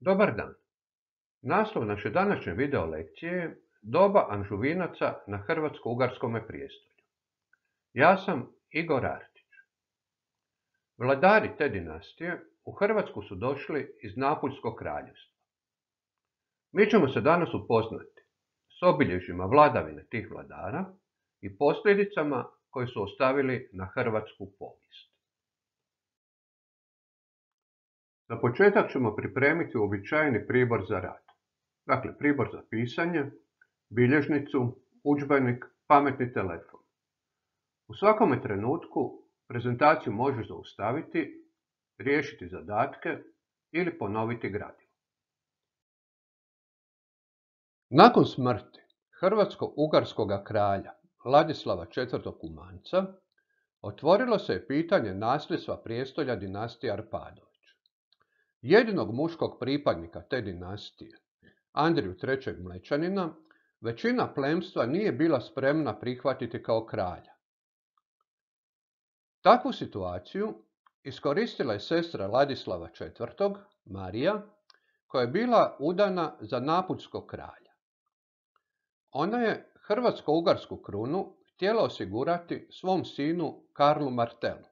Dobar dan. Naslov naše današnje video lekcije je Doba Anžuvinaca na Hrvatsko-Ugarskome prijestolju. Ja sam Igor Artić. Vladari te dinastije u Hrvatsku su došli iz Napuljskog kraljevstva. Mi ćemo se danas upoznati s obilježjima vladavine tih vladara i posljedicama koje su ostavili na hrvatsku povijest. Za početak ćemo pripremiti uobičajeni pribor za rad. Dakle, pribor za pisanje, bilježnicu, udžbenik, pametni telefon. U svakome trenutku prezentaciju možeš zaustaviti, riješiti zadatke ili ponoviti gradivo. Nakon smrti hrvatsko-ugarskoga kralja Ladislava IV. Kumanca otvorilo se je pitanje nasljedstva prijestolja dinastije Arpadović. Jedinog muškog pripadnika te dinastije, Andriju III. Mlečanina, većina plemstva nije bila spremna prihvatiti kao kralja. Takvu situaciju iskoristila je sestra Ladislava IV. Marija, koja je bila udana za napuljskog kralja. Ona je hrvatsko-ugarsku krunu htjela osigurati svom sinu Karlu Martelu.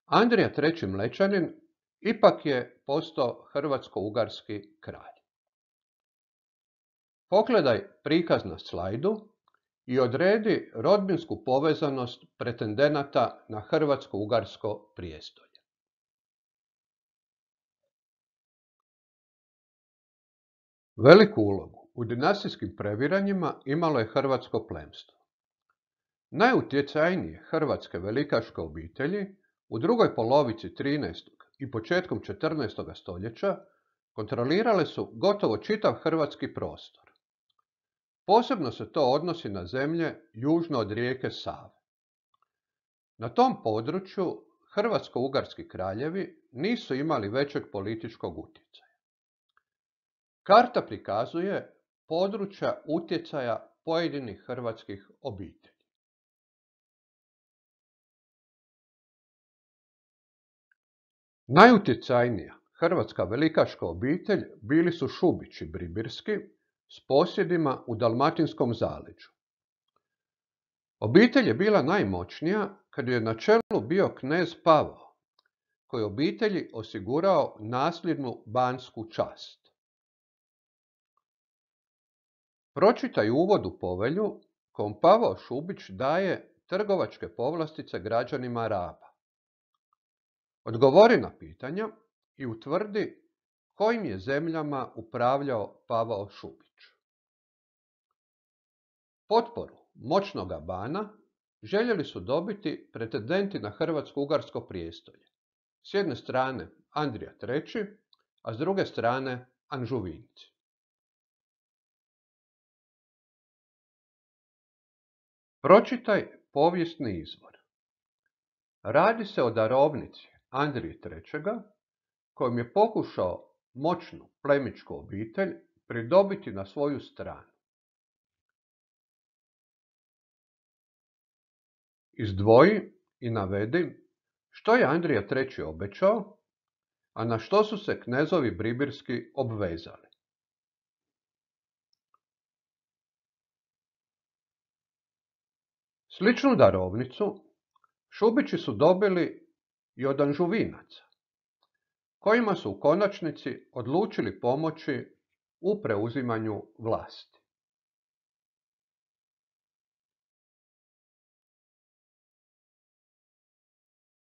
Andrija III. Mlečanin ipak je postao hrvatsko-ugarski kralj. Pogledaj prikaz na slajdu i odredi rodbinsku povezanost pretendenata na hrvatsko-ugarsko prijestolje. Veliku ulogu u dinastijskim previranjima imalo je hrvatsko plemstvo. Najutjecajnije hrvatske velikaške obitelji u drugoj polovici 13. i početkom 14. stoljeća kontrolirale su gotovo čitav hrvatski prostor. Posebno se to odnosi na zemlje južno od rijeke Save. Na tom području hrvatsko-ugarski kraljevi nisu imali većeg političkog utjecaja. Karta prikazuje područja utjecaja pojedinih hrvatskih obitelji. Najutjecajnija hrvatska velikaška obitelj bili su Šubići Bribirski s posjedima u Dalmatinskom zaleđu. Obitelj je bila najmoćnija kad je na čelu bio knez Pavao, koji je obitelji osigurao nasljednu bansku čast. Pročitaj uvod u povelju kojom Pavao Šubić daje trgovačke povlastice građanima Raba. Odgovori na pitanja i utvrdi kojim je zemljama upravljao Pavao Šubić. Potporu moćnoga bana željeli su dobiti pretendenti na hrvatsko-ugarsko prijestolje. S jedne strane Andrija III., a s druge strane Anžuvinci. Pročitaj povijesni izvor. Radi se o darovnici Andrije III. Kojim je pokušao moćnu plemićku obitelj pridobiti na svoju stranu. Izdvoji i navedi što je Andrija III. Obećao, a na što su se knezovi Bribirski obvezali. Sličnu darovnicu Šubići su dobili i od Anžuvinaca, kojima su u konačnici odlučili pomoći u preuzimanju vlasti.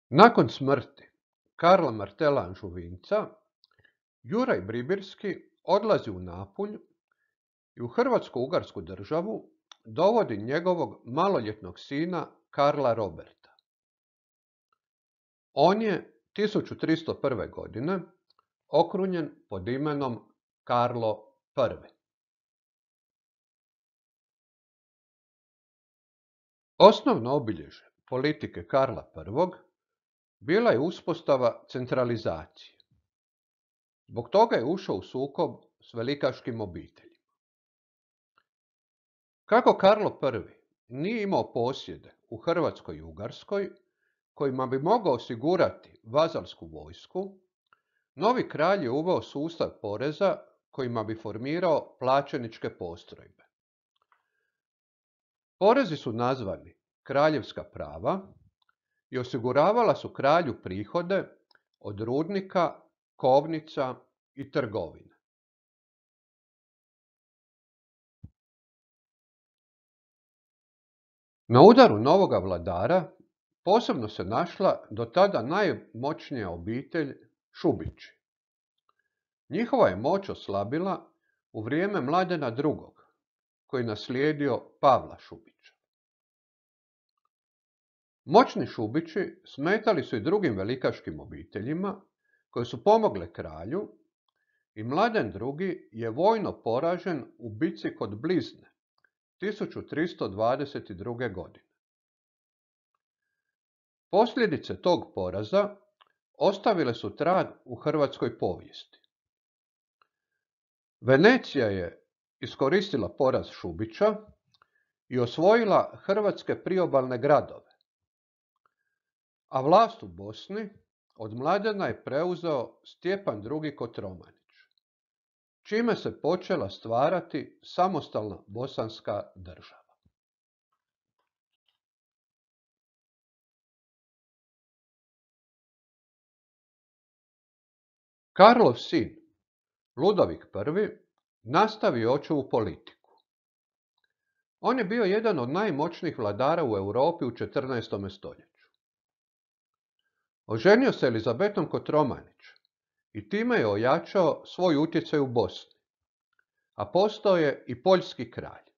Nakon smrti Karla Martela Anžuvinca, Juraj Bribirski odlazi u Napulj i u hrvatsko-ugarsku državu dovodi njegovog maloljetnog sina Karla Roberta. On je 1301. godine okrunjen pod imenom Karlo I. Osnovno obilježje politike Karla I. bila je uspostava centralizacije. Zbog toga je ušao u sukob s velikaškim obiteljima. Kako Karlo I. nije imao posjede u Hrvatskoj i Ugarskoj, kojima bi mogao osigurati vazalsku vojsku, Novi kralj je uveo sustav poreza kojima bi formirao plaćeničke postrojbe. Porezi su nazvani kraljevska prava i osiguravala su kralju prihode od rudnika, kovnica i trgovine. Na udaru novoga vladara posebno se našla do tada najmoćnija obitelj Šubići. Njihova je moć oslabila u vrijeme Mladena II, koji je naslijedio Pavla Šubića. Moćni Šubići smetali su i drugim velikaškim obiteljima koje su pomogle kralju i Mladen II je vojno poražen u bici kod Blizne 1322. godine. Posljedice tog poraza ostavile su trag u hrvatskoj povijesti. Venecija je iskoristila poraz Šubića i osvojila hrvatske priobalne gradove, a vlast u Bosni od Mladena je preuzeo Stjepan II. Kotromanić, čime se počela stvarati samostalna bosanska država. Karlov sin, Ludovik I, nastavio očevu politiku. On je bio jedan od najmoćnijih vladara u Europi u 14. stoljeću. Oženio se Elizabetom Kotromanić i time je ojačao svoj utjecaj u Bosni, a postao je i poljski kralj.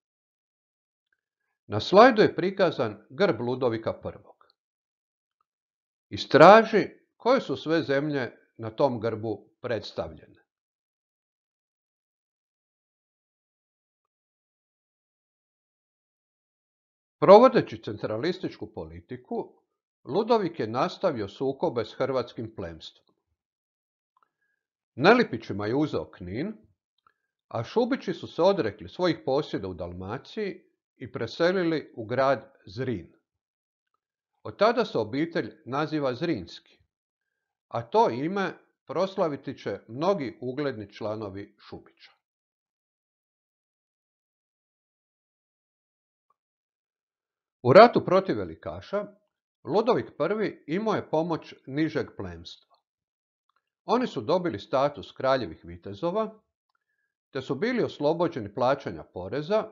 Na slajdu je prikazan grb Ludovika I. Istraži koje su sve zemlje na tom grbu predstavljene. Provodeći centralističku politiku, Ludovik je nastavio sukobe s hrvatskim plemstvom. Nelipićima je uzeo Knin, a Šubići su se odrekli svojih posjeda u Dalmaciji i preselili u grad Zrin. Od tada se obitelj naziva Zrinski, a to ime proslaviti će mnogi ugledni članovi Šubića. U ratu protiv velikaša, Ludovik I imao je pomoć nižeg plemstva. Oni su dobili status kraljevih vitezova, te su bili oslobođeni plaćanja poreza,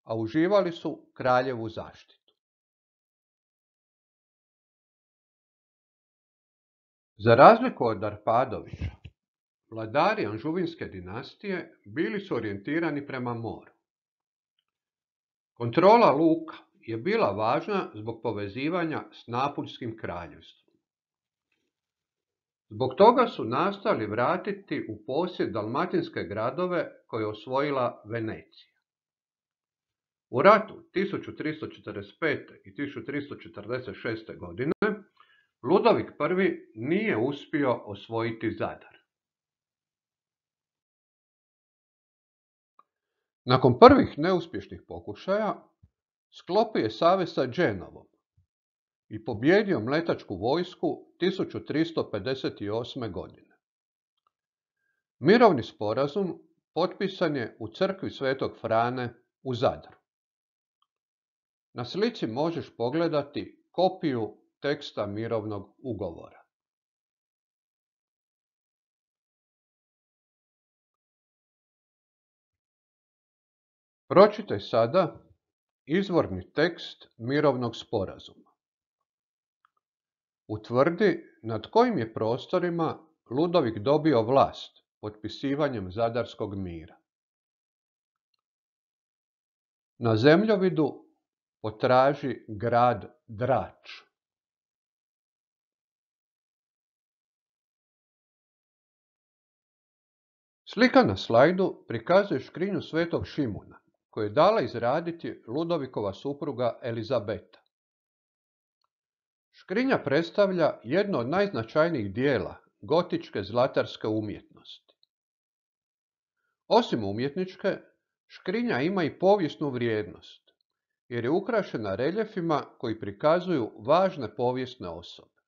a uživali su kraljevu zaštitu. Za razliku od Arpadovića, vladari Anžuvinske dinastije bili su orijentirani prema moru. Kontrola luka je bila važna zbog povezivanja s Napuljskim kraljevstvom. Zbog toga su nastojali vratiti u posjed dalmatinske gradove koje je osvojila Venecija. U ratu 1345. i 1346. godine Ludovik I nije uspio osvojiti Zadar. Nakon prvih neuspješnih pokušaja, sklopio je savez sa Dženovom i pobijedio mletačku vojsku 1358. godine. Mirovni sporazum potpisan je u crkvi Svetog Frane u Zadru. Na slici možeš pogledati kopiju teksta mirovnog ugovora. Pročitaj sada izvorni tekst mirovnog sporazuma. Utvrdi nad kojim je prostorima Ludovik dobio vlast potpisivanjem Zadarskog mira. Na zemljovidu potraži grad Drač. Slika na slajdu prikazuje škrinju Svetog Šimuna, koju je dala izraditi Ludovikova supruga Elizabeta. Škrinja predstavlja jedno od najznačajnijih dijela gotičke zlatarske umjetnosti. Osim umjetničke, škrinja ima i povijesnu vrijednost, jer je ukrašena reljefima koji prikazuju važne povijesne osobe.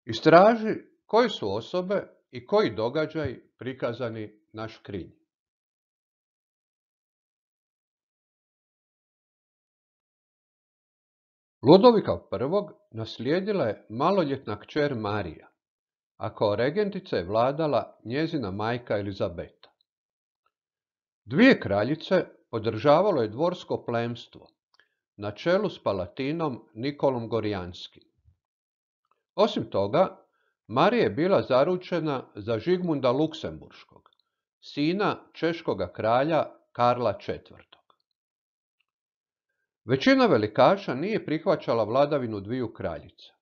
Istraži koje su osobe i koji događaji prikazani na škrinji. Ludovika I. naslijedila je maloljetna kćer Marija, a kao regentica je vladala njezina majka Elizabeta. Dvije kraljice podržavalo je dvorsko plemstvo, na čelu s palatinom Nikolom Gorjanskim. Osim toga, Marija je bila zaručena za Žigmunda Luksemburškog, sina češkoga kralja Karla IV. Većina velikaša nije prihvaćala vladavinu dviju kraljica.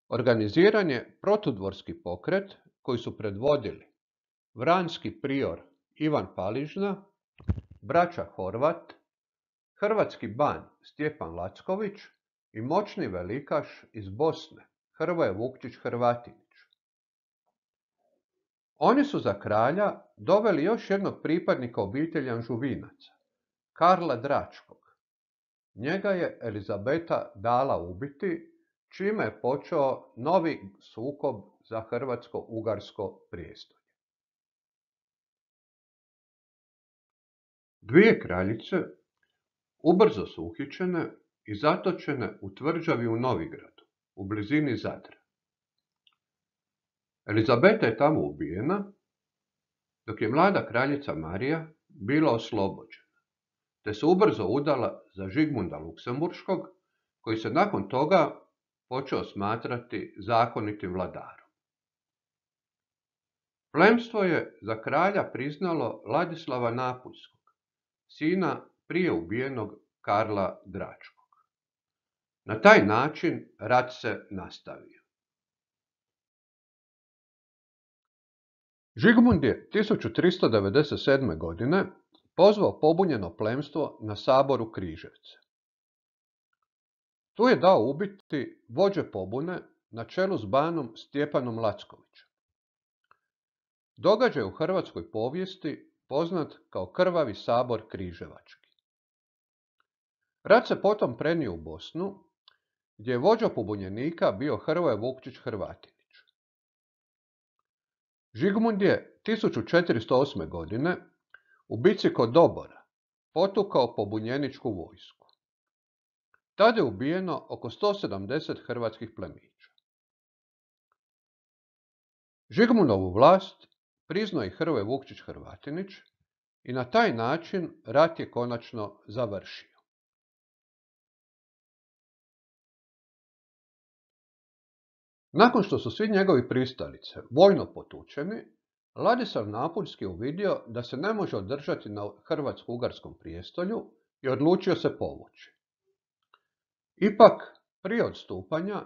Organiziran je protudvorski pokret koji su predvodili vranski prior Ivan Paližna, braća Horvat, hrvatski ban Stjepan Lacković i moćni velikaš iz Bosne Hrvoje Vukčić-Hrvatinić. Oni su za kralja doveli još jednog pripadnika obitelji Anžuvinaca, Karla Dračkog. Njega je Elizabeta dala ubiti, čime je počeo novi sukob za hrvatsko-ugarsko prijestolje. Dvije kraljice ubrzo su uhićene i zatočene u tvrđavi u Novigradu, u blizini Zadra. Elizabeta je tamo ubijena, dok je mlada kraljica Marija bila oslobođena, te se ubrzo udala za Žigmunda Luksemburškog, koji se nakon toga počeo smatrati zakonitim vladarom. Plemstvo je za kralja priznalo Ladislava Napuljskog, sina prije ubijenog Karla Dračkog. Na taj način rat se nastavio. Žigmund je 1397. godine pozvao pobunjeno plemstvo na sabor u Križevce. Tu je dao ubiti vođe pobune na čelu s banom Stjepanom Lackovićem. Događaj u hrvatskoj povijesti poznat kao Krvavi sabor križevački. Rat se potom prenio u Bosnu, gdje je vođa pobunjenika bio Hrvoje Vukčić-Hrvatinić. Žigmund je 1408. godine u bici kod Dobora potukao pobunjeničku vojsku. Tada je ubijeno oko 170 hrvatskih plemića. Žigmundovu vlast priznao je Hrvoje Vukčić-Hrvatinić i na taj način rat je konačno završio. Nakon što su svi njegovi pristalice vojno potučeni, Ladislav Napuljski je uvidio da se ne može održati na hrvatsko-ugarskom prijestolju i odlučio se povući. Ipak, prije odstupanja,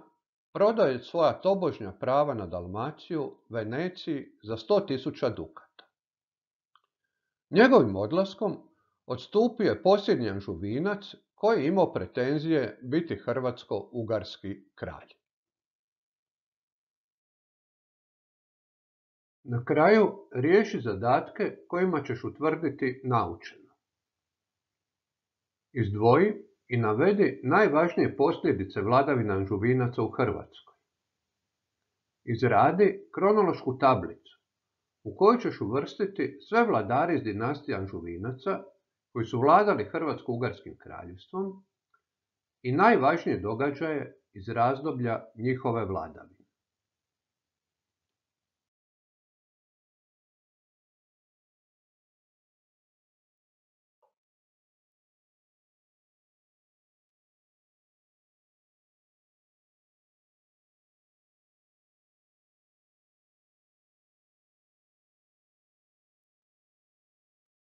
prodao je svoja tobožnja prava na Dalmaciju Veneciji za 100.000 dukata. Njegovim odlaskom odstupio je posljednji Anžuvinac koji je imao pretenzije biti hrvatsko-ugarski kralj. Na kraju riješi zadatke kojima ćeš utvrditi naučeno. Izdvoji i navedi najvažnije posljedice vladavine Anžuvinaca u Hrvatskoj. Izradi kronološku tablicu u kojoj ćeš uvrstiti sve vladare iz dinastije Anžuvinaca koji su vladali Hrvatsko-ugarskim kraljevstvom i najvažnije događaje iz razdoblja njihove vladavine.